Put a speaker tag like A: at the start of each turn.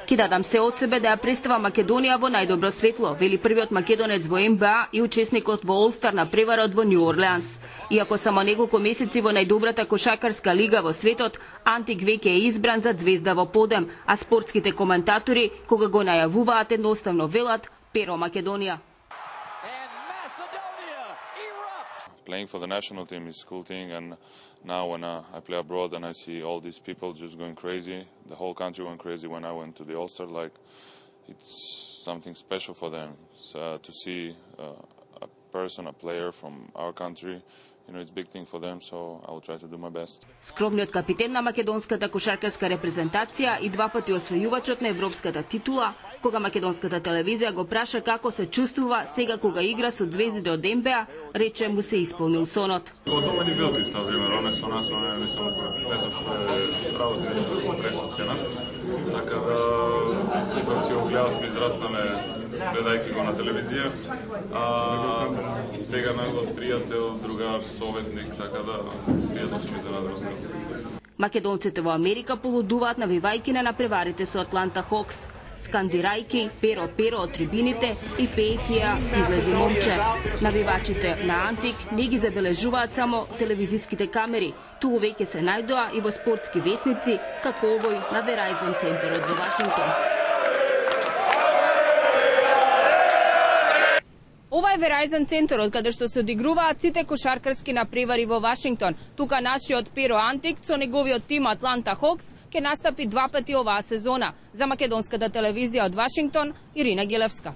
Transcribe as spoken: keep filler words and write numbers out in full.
A: Ки дадам се од себе да ја представа Македонија во најдобро светло, вели првиот македонец во Н Б А и учесникот во Олстар на преварот во Њу Орлеанс. Иако само неколку месеци во најдобрата кошакарска лига во светот, Антик веќе е избран за звезда во подем, а спортските коментатори, кога го најавуваат, едноставно велат Перо Македонија.
B: Playing for the national team is a cool thing, and now when uh, I play abroad and I see all these people just going crazy, the whole country went crazy when I went to the All-Star, like, it's something special for them. So, uh, to see uh, a person, a player from our country, you know, it's a big thing for them, so I will try to do my best.
A: Скромниот капитен на македонската кошаркарска репрезентација и два пати освојувачот на европската титула, кога македонската телевизија го праша како се чувствува сега кога игра со звездите од Н Б А, рече му се исполнил сонот.
C: Од мени велики, например, one со нас, one не само не знам што е работи нешто да сме пресот ке нас. Така да ипак си огледа сме израснале гледајќи го на телевизија. А сега најгод пријател, другар, советник, така да пријатно сме изненадени.
A: Македонците во Америка полудуваат навивајќи на напреварите со Атланта Хокс, скандирајќи Перо Перо од трибините и пеејќи ја излези момче. Навивачите на Антик не ги забележуваат само телевизиските камери, туку веќе се најдоа и во спортски весници, како овој на Verizon центарот во Вашингтон.
D: Ова е Verizon центарот каде што се одигруваат сите кошаркарски напревари во Вашингтон. Тука нашиот Перо Антик со неговиот тим Атланта Хокс ќе настапи два пати оваа сезона. За македонската телевизија од Вашингтон, Ирина Гелевска.